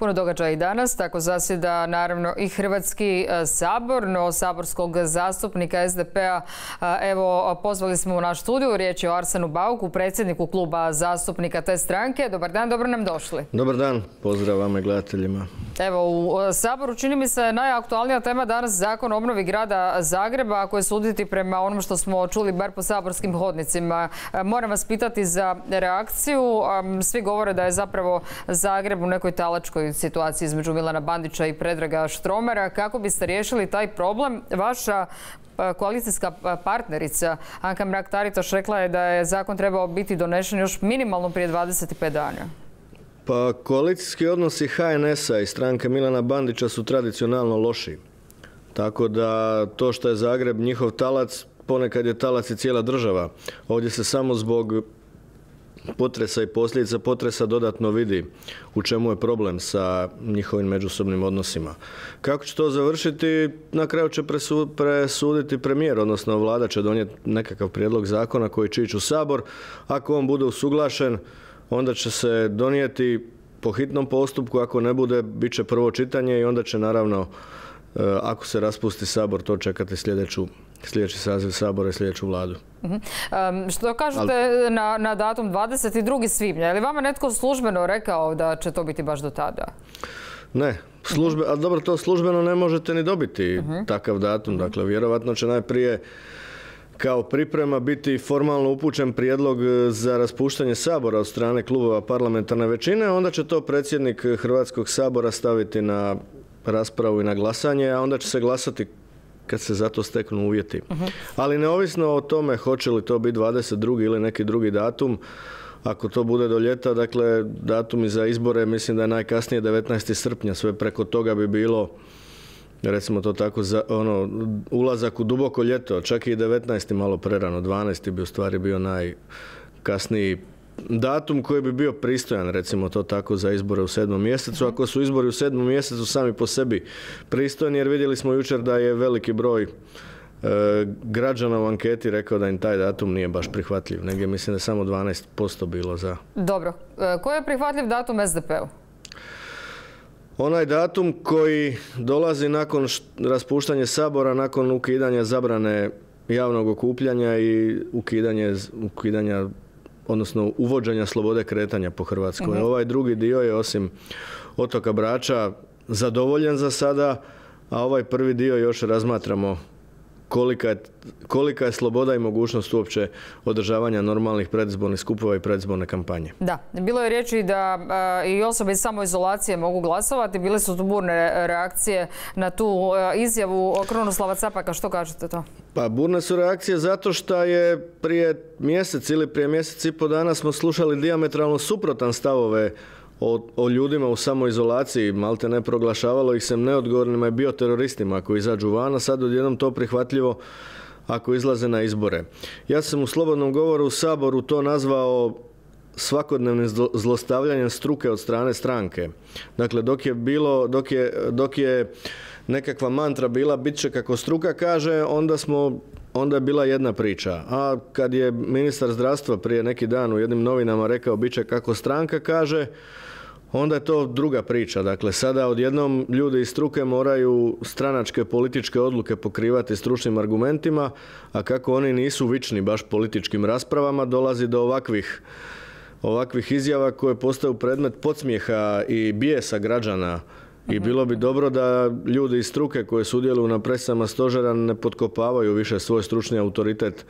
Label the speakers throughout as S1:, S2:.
S1: Puno događaja i danas, tako zasjeda naravno i Hrvatski sabor, no saborskog zastupnika SDP-a evo pozvali smo u naš studiju, riječ je o Arsenu Bauku, predsjedniku kluba zastupnika te stranke. Dobar dan, dobro nam došli.
S2: Dobar dan, pozdrav vama i gledateljima.
S1: Evo, u Saboru čini mi se najaktualnija tema danas Zakon o obnovi grada Zagreba, ako je suditi prema onom što smo čuli bar po saborskim hodnicima. Moram vas pitati za reakciju. Svi govore da je zapravo Zagreb u nekoj talačkoj situaciji između Milana Bandića i Predraga Štromara. Kako biste riješili taj problem? Vaša koalicijska partnerica Anka Mrak-Taritaš rekla je da je zakon trebao biti donesen još minimalno prije 25 dana.
S2: Pa koalicijski odnosi HNS-a i stranke Milana Bandića su tradicionalno loši. Tako da to što je Zagreb njihov talac, ponekad je talac i cijela država. Ovdje se samo zbog potresa i posljedica potresa dodatno vidi u čemu je problem sa njihovim međusobnim odnosima. Kako će to završiti? Na kraju će presuditi premijer, odnosno vlada će donijeti nekakav prijedlog zakona koji će ići u Sabor. Ako on bude usuglašen, onda će se donijeti po hitnom postupku, ako ne bude, bit će prvo čitanje i onda će naravno, ako se raspusti Sabor, to čekati sljedeći saziv Sabora i sljedeću vladu.
S1: Što kažete na datum 22. svibnja? Je li vama netko službeno rekao da će to biti baš do tada?
S2: Ne. Ali dobro, to službeno ne možete ni dobiti takav datum. Dakle, vjerovatno će najprije kao priprema biti formalno upućen prijedlog za raspuštanje Sabora od strane klubova parlamentarne većine, onda će to predsjednik Hrvatskog sabora staviti na raspravu i na glasanje, a onda će se glasati kad se za to steknu uvjeti. Ali neovisno o tome hoće li to biti 22. ili neki drugi datum, ako to bude do ljeta, dakle datumi za izbore mislim da je najkasnije 19. srpnja, sve preko toga bi bilo, recimo to tako, ulazak u duboko ljeto, čak i 19. malo prerano, 12. bi u stvari bio najkasniji datum koji bi bio pristojan, recimo to tako, za izbore u 7. mjesecu. Ako su izbori u 7. mjesecu sami po sebi pristojni, jer vidjeli smo jučer da je veliki broj građana u anketi rekao da im taj datum nije baš prihvatljiv. Negdje mislim da je samo 12% bilo za.
S1: Dobro. Koji je prihvatljiv datum SDP-u?
S2: Onaj datum koji dolazi nakon raspuštanja Sabora, nakon ukidanja zabrane javnog okupljanja i ukidanja odnosno uvođenja slobode kretanja po Hrvatskoj. Ovaj drugi dio je osim otoka Brača zadovoljen za sada, a ovaj prvi dio još razmatramo kolika je sloboda i mogućnost uopće održavanja normalnih predizbornih skupova i predizborne kampanje. Da,
S1: bilo je riječi da i osobe iz samoizolacije mogu glasovati. Bile su tu burne reakcije na tu izjavu Krunoslava Capaka. Što kažete to?
S2: Pa burne su reakcije zato što je prije mjesec ili prije mjesec i pol dana smo slušali dijametralno suprotan stavove o ljudima u samoizolaciji, malte ne proglašavalo ih se neodgovornima i bioteroristima ako izađu van, a sad odjednom to prihvatljivo ako izlaze na izbore. Ja sam u slobodnom govoru u Saboru to nazvao svakodnevnim zlostavljanjem struke od strane stranke. Dakle, dok je nekakva mantra bila bit će kako struka kaže, onda je bila jedna priča. A kad je ministar zdravstva prije neki dan u jednim novinama rekao bit će kako stranka kaže, onda je to druga priča. Dakle, sada odjednom ljudi iz struke moraju stranačke političke odluke pokrivati stručnim argumentima, a kako oni nisu vični baš političkim raspravama, dolazi do ovakvih izjava koje postaju predmet podsmijeha i bijesa građana. I bilo bi dobro da ljudi iz struke koji sudjeluju na presama stožera ne potkopavaju više svoj stručni autoritet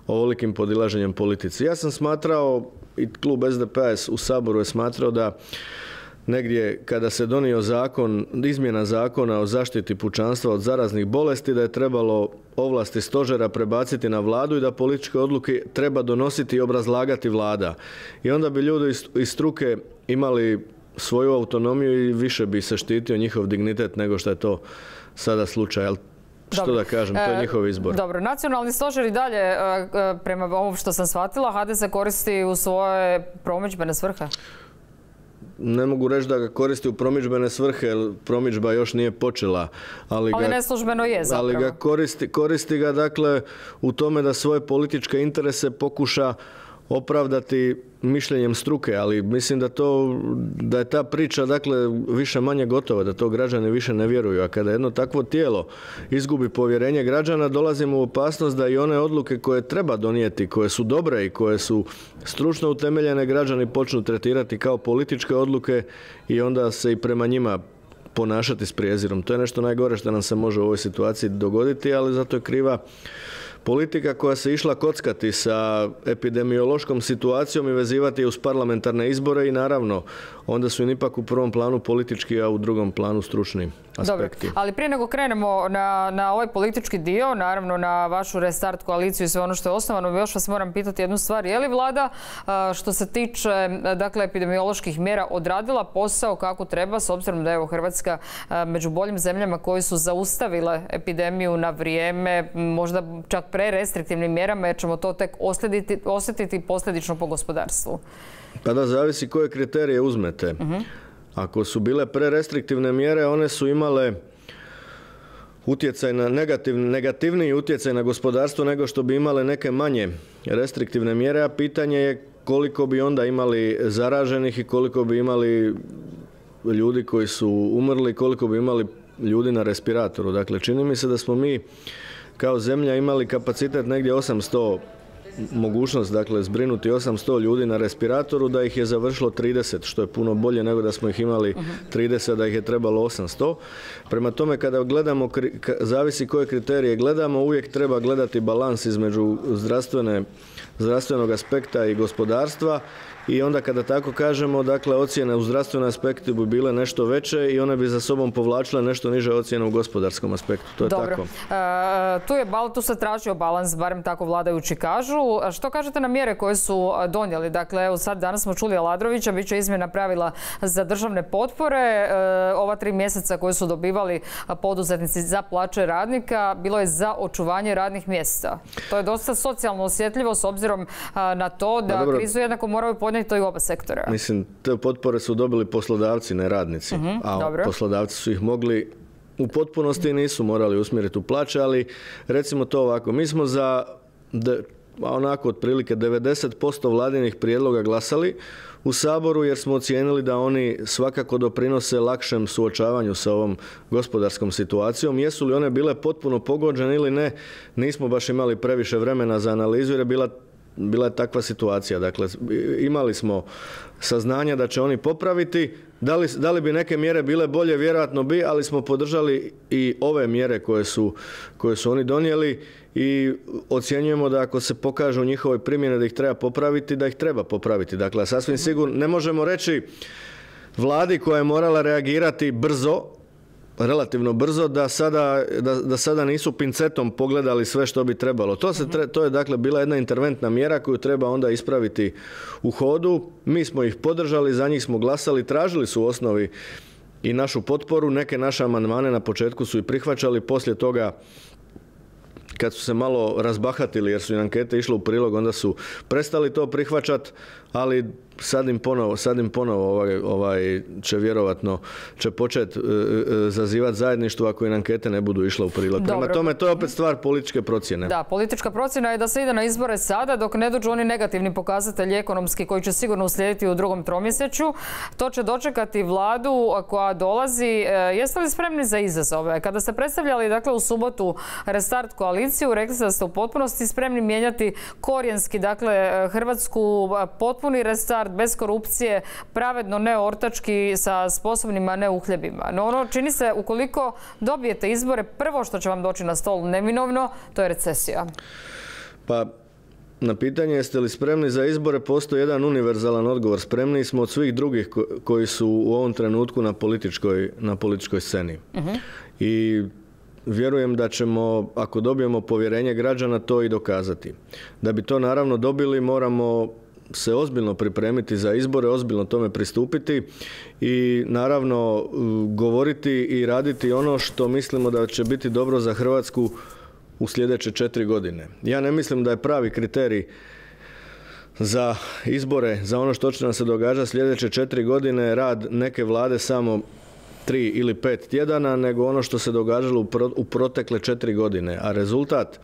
S2: ovolikim podilaženjem politici. Ja sam smatrao, i klub SDP-a u Saboru je smatrao da negdje kada se donio izmjena zakona o zaštiti pučanstva od zaraznih bolesti, da je trebalo ovlasti stožera prebaciti na vladu i da političke odluke treba donositi i obrazlagati vlada. I onda bi ljudi iz struke imali svoju autonomiju i više bi se štitio njihov dignitet nego što je to sada slučaj. Ali što da kažem, to je njihov izbor.
S1: Dobro, nacionalni stožer i dalje, prema ovom što sam shvatila, HDZ koristi u svoje promidžbene svrhe?
S2: Ne mogu reći da ga koristi u promidžbene svrhe, jer promidžba još nije počela.
S1: Ali neslužbeno je zapravo.
S2: Ali koristi ga dakle u tome da svoje političke interese pokuša opravdati mišljenjem struke, ali mislim da je ta priča dakle više manje gotova, da to građani više ne vjeruju, a kada jedno takvo tijelo izgubi povjerenje građana, dolazimo u opasnost da i one odluke koje treba donijeti, koje su dobre i koje su stručno utemeljene, građani počnu tretirati kao političke odluke i onda se i prema njima ponašati s prijezirom. To je nešto najgore što nam se može u ovoj situaciji dogoditi, ali zato je kriva politika koja se išla kockati sa epidemiološkom situacijom i vezivati uz parlamentarne izbore i naravno onda su im ipak u prvom planu politički, a u drugom planu stručni aspekti.
S1: Dobro, ali prije nego krenemo na ovaj politički dio, naravno na vašu restart koaliciju i sve ono što je osnovano, još vas moram pitati jednu stvar. Je li vlada što se tiče dakle, epidemioloških mjera odradila posao kako treba, s obzirom da je evo Hrvatska među boljim zemljama koji su zaustavile epidemiju na vrijeme, možda čak prerestriktivnim mjerama, jer ćemo to tek osjetiti posljedično po gospodarstvu?
S2: Pa da, zavisi koje kriterije uzmete. Ako su bile prerestriktivne mjere, one su imale utjecaj na negativniji utjecaj na gospodarstvo nego što bi imale neke manje restriktivne mjere, a pitanje je koliko bi onda imali zaraženih i koliko bi imali ljudi koji su umrli, koliko bi imali ljudi na respiratoru. Dakle, čini mi se da smo mi kao zemlja imali kapacitet negdje 800, mogućnost dakle zbrinuti 800 ljudi na respiratoru, da ih je završilo 30, što je puno bolje nego da smo ih imali 30, da ih je trebalo 800. Prema tome, kada gledamo, zavisi koje kriterije gledamo, uvijek treba gledati balans između zdravstvenog aspekta i gospodarstva. I onda kada tako kažemo, dakle, ocjene u zdravstvenom aspektu bi bile nešto veće i one bi za sobom povlačile nešto niže ocjene u gospodarskom aspektu. To je
S1: dobro. Tako. Tu se tražio balans, barem tako vladajući kažu. Što kažete na mjere koje su donijeli? Dakle, evo sad danas smo čuli Aladrovića, bit će izmjena pravila za državne potpore. Ova 3 mjeseca koje su dobivali poduzetnici za plaće radnika bilo je za očuvanje radnih mjesta. To je dosta socijalno osjetljivo s obzirom na to da krizu jednako moraju podnijeti to i oba sektora.
S2: Mislim, te potpore su dobili poslodavci, ne radnici. A dobro. Poslodavci su ih mogli u potpunosti nisu morali usmjeriti u plaće, ali recimo to ovako. Mi smo za onako otprilike 90% vladinih prijedloga glasali u Saboru jer smo ocijenili da oni svakako doprinose lakšem suočavanju sa ovom gospodarskom situacijom. Jesu li one bile potpuno pogođene ili ne, nismo baš imali previše vremena za analizu jer je bila je takva situacija. Dakle, imali smo saznanja da će oni popraviti. Da li bi neke mjere bile bolje? Vjerojatno bi, ali smo podržali i ove mjere koje su oni donijeli i ocjenjujemo da ako se pokažu u njihovoj primjeni da ih treba popraviti, da ih treba popraviti. Dakle, sasvim sigurno ne možemo reći vladi koja je morala reagirati brzo, relativno brzo, da sada nisu pincetom pogledali sve što bi trebalo. To je dakle bila jedna interventna mjera koju treba onda ispraviti u hodu. Mi smo ih podržali, za njih smo glasali, tražili su u osnovi i našu potporu. Neke naše amandmane na početku su i prihvaćali, poslije toga kad su se malo razbahatili jer su im ankete išle u prilog, onda su prestali to prihvaćati, ali sad im ponovo će vjerovatno početi zazivati zajedništvo ako im ankete ne budu išle u prilog. Prema tome, to je opet stvar političke procjene.
S1: Da, politička procjena je da se ide na izbore sada dok ne dođu oni negativni pokazatelji ekonomski koji će sigurno uslijediti u drugom tromjesečju. To će dočekati vladu koja dolazi. Jeste li spremni za izazove? Kada ste predstavljali dakle, u subotu restart koaliciju, rekli ste da ste u potpunosti spremni mijenjati korijenski, dakle, Hrvatsku, potpuni restart, bez korupcije, pravedno, ne ortački, sa sposobnima, ne uhljebima. No ono čini se, ukoliko dobijete izbore, prvo što će vam doći na stol neminovno, to je recesija.
S2: Pa, na pitanje jeste li spremni za izbore, postoji jedan univerzalan odgovor. Spremni smo od svih drugih koji su u ovom trenutku na političkoj sceni. I vjerujem da ćemo, ako dobijemo povjerenje građana, to i dokazati. Da bi to naravno dobili, moramo se ozbiljno pripremiti za izbore, ozbiljno tome pristupiti i naravno govoriti i raditi ono što mislimo da će biti dobro za Hrvatsku u sljedeće 4 godine. Ja ne mislim da je pravi kriterij za izbore, za ono što će nam se događati sljedeće 4 godine rad neke vlade samo 3 ili 5 tjedana, nego ono što se događalo u protekle 4 godine. A rezultat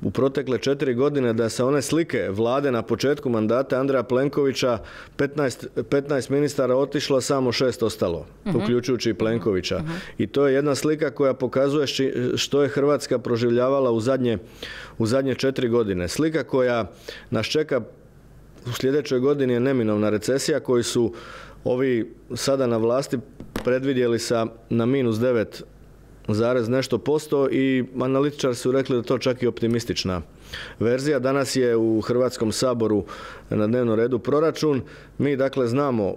S2: u protekle 4 godine da sa one slike vlade na početku mandata Andreja Plenkovića 15 ministara otišlo, samo 6 ostalo, uključujući i Plenkovića. I to je jedna slika koja pokazuje što je Hrvatska proživljavala u zadnje 4 godine. Slika koja nas čeka u sljedećoj godini je neminovna recesija koju su ovi sada na vlasti predvidjeli na -9 nešto posto i analitičari su rekli da to čak i optimistična verzija. Danas je u Hrvatskom saboru na dnevnom redu proračun. Mi dakle znamo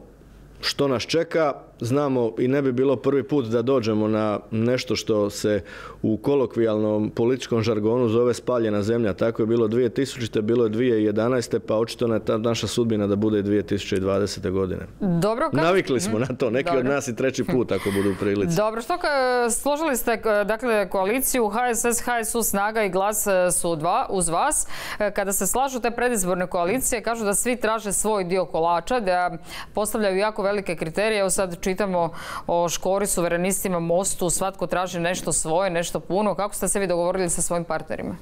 S2: što nas čeka, znamo i ne bi bilo prvi put da dođemo na nešto što se u kolokvijalnom političkom žargonu zove spaljena zemlja. Tako je bilo 2000. bilo je 2011. pa očito je ta naša sudbina da bude 2020. godine.
S1: Dobro,
S2: navikli smo na to, neki od nas i treći put ako budu u prilici.
S1: Dobro, složili ste dakle koaliciju HSS, HSU, Snaga i Glas su uz vas. Kada se slažu te predizborne koalicije, kažu da svi traže svoj dio kolača, da postavljaju jako velike kriterije. Evo sad čitamo o Škori, Suverenistima, Mostu, svatko traži nešto svoje, nešto puno. Kako ste se vi dogovorili sa svojim partnerima?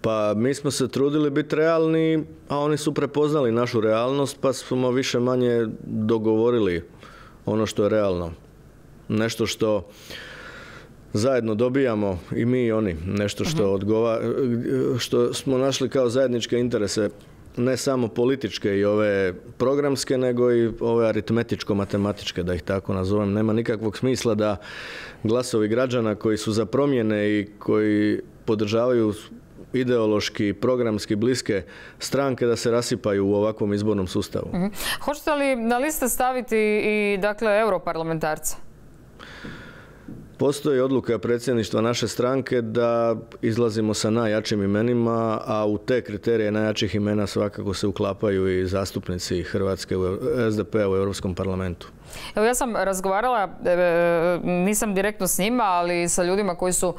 S2: Pa mi smo se trudili biti realni, a oni su prepoznali našu realnost, pa smo više manje dogovorili ono što je realno. Nešto što zajedno dobijamo i mi i oni. Nešto što smo našli kao zajedničke interese, ne samo političke i ove programske, nego i ove aritmetičko-matematičke, da ih tako nazovem. Nema nikakvog smisla da glasovi građana koji su za promjene i koji podržavaju ideološki, programski bliske stranke da se rasipaju u ovakvom izbornom sustavu.
S1: Hoćete li na liste staviti i dakle europarlamentarce?
S2: Postoji odluka predsjedništva naše stranke da izlazimo sa najjačim imenima, a u te kriterije najjačih imena svakako se uklapaju i zastupnici Hrvatske SDP-a u Europskom parlamentu.
S1: Evo, ja sam razgovarala, nisam direktno s njima, ali sa ljudima koji su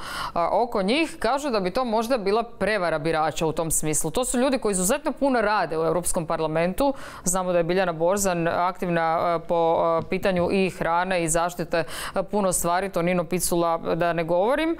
S1: oko njih, kažu da bi to možda bila prevara birača u tom smislu. To su ljudi koji izuzetno puno rade u Europskom parlamentu. Znamo da je Biljana Borzan aktivna po pitanju i hrane i zaštite puno stvari, Tonino Picula da ne govorim,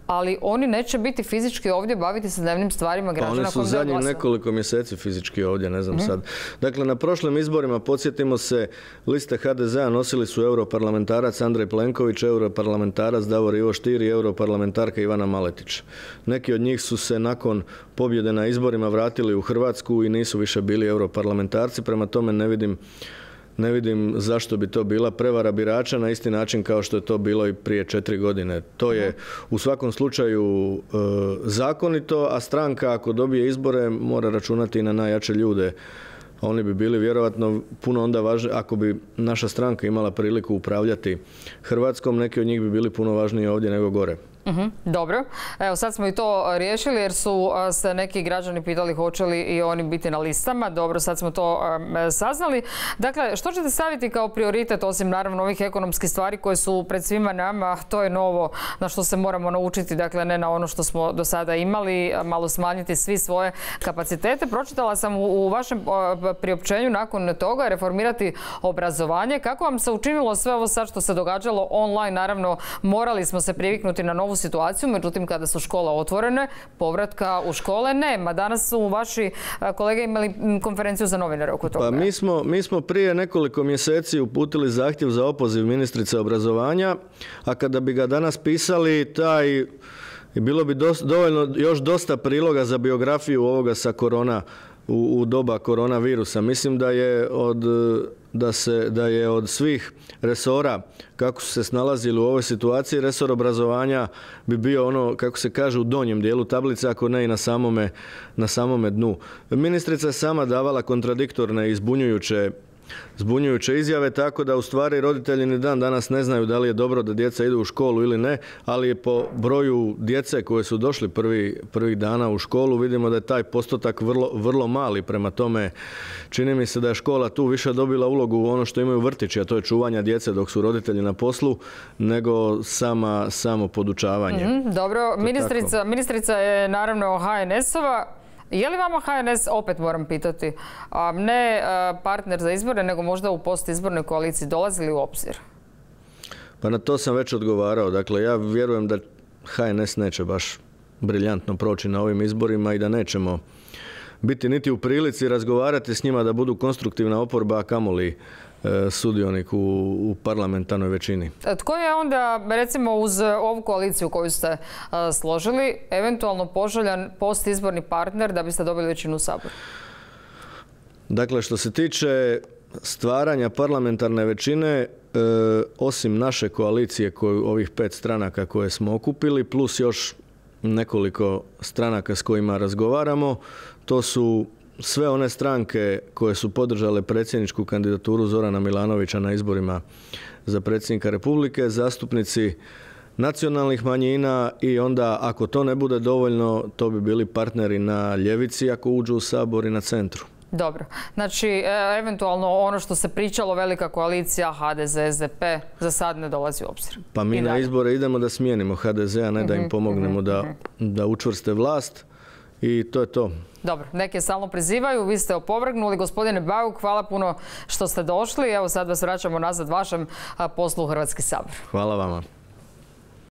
S1: ali oni neće biti fizički ovdje baviti se dnevnim stvarima građana.
S2: Oni su zadnjih nekoliko mjeseci fizički ovdje, ne znam sad. Dakle, na prošlim izborima, podsjetimo se, liste HDZ-a nosili su europarlamentarac Andrej Plenković, europarlamentarac Davor Ivo Stier i europarlamentarka Ivana Maletić. Neki od njih su se nakon pobjede na izborima vratili u Hrvatsku i nisu više bili europarlamentarci, prema tome ne vidim zašto bi to bila prevara birača na isti način kao što je to bilo i prije 4 godine. To je u svakom slučaju zakonito, a stranka ako dobije izbore mora računati i na najjače ljude. Oni bi bili vjerojatno puno onda važniji, ako bi naša stranka imala priliku upravljati Hrvatskom, neki od njih bi bili puno važniji ovdje nego gore.
S1: Dobro. Evo, sad smo i to riješili jer su se neki građani pitali hoće li i oni biti na listama. Dobro, sad smo to saznali. Dakle, što ćete staviti kao prioritet, osim naravno ovih ekonomskih stvari koje su pred svima nama? To je novo na što se moramo naučiti, dakle ne na ono što smo do sada imali, malo smanjiti svi svoje kapacitete. Pročitala sam u vašem priopćenju nakon toga reformirati obrazovanje. Kako vam se učinilo sve ovo sad što se događalo online? Naravno, morali smo se priviknuti na novu situaciju, međutim kada su škole otvorene, povratka u škole nema. Danas su vaši kolege imali konferenciju za novinare oko toga.
S2: Pa mi smo prije nekoliko mjeseci uputili zahtjev za opoziv ministrice obrazovanja, a kada bi ga danas pisali, bilo bi dovoljno još dosta priloga za biografiju ovoga sa u doba koronavirusa. Mislim da je od svih resora kako su se snalazili u ovoj situaciji, resor obrazovanja bi bio ono, kako se kaže, u donjem dijelu tablice, ako ne i na samome dnu. Ministrica je sama davala kontradiktorne i zbunjujuće izjave, tako da u stvari roditelji ni dan danas ne znaju da li je dobro da djeca idu u školu ili ne, ali po broju djece koje su došli prvih dana u školu vidimo da je taj postotak vrlo mali. Prema tome, čini mi se da je škola tu više dobila ulogu u ono što imaju vrtići, a to je čuvanja djece dok su roditelji na poslu, nego samo podučavanje.
S1: Dobro, ministrica je naravno HNS-ova. Je li vama HNS, opet moram pitati, ne partner za izbore, nego možda u postizbornoj koaliciji, dolazili u obzir?
S2: Pa na to sam već odgovarao. Dakle, ja vjerujem da HNS neće baš briljantno proći na ovim izborima i da nećemo biti niti u prilici razgovarati s njima da budu konstruktivna oporba, a kamoli sudionik u parlamentarnoj većini.
S1: Tko je onda, recimo uz ovu koaliciju koju ste složili, eventualno poželjan postizborni partner da biste dobili većinu u Saboru?
S2: Dakle, što se tiče stvaranja parlamentarne većine, osim naše koalicije, ovih 5 stranaka koje smo okupili, plus još nekoliko stranaka s kojima razgovaramo, to su sve one stranke koje su podržale predsjedničku kandidaturu Zorana Milanovića na izborima za predsjednika Republike, zastupnici nacionalnih manjina i onda ako to ne bude dovoljno, to bi bili partneri na ljevici ako uđu u Sabor i na centru.
S1: Dobro. Znači, eventualno ono što se pričalo, velika koalicija HDZ, SDP, za sad ne dolazi u obzir.
S2: Pa mi na izbore idemo da smijenimo HDZ, a ne da im pomognemo da učvrste vlast i to je to.
S1: Dobro, neke stalno prizivaju, vi ste opovrgnuli. Gospodine Bauk, hvala puno što ste došli. Evo sad vas vraćamo nazad vašem poslu u Hrvatski sabor.
S2: Hvala vama.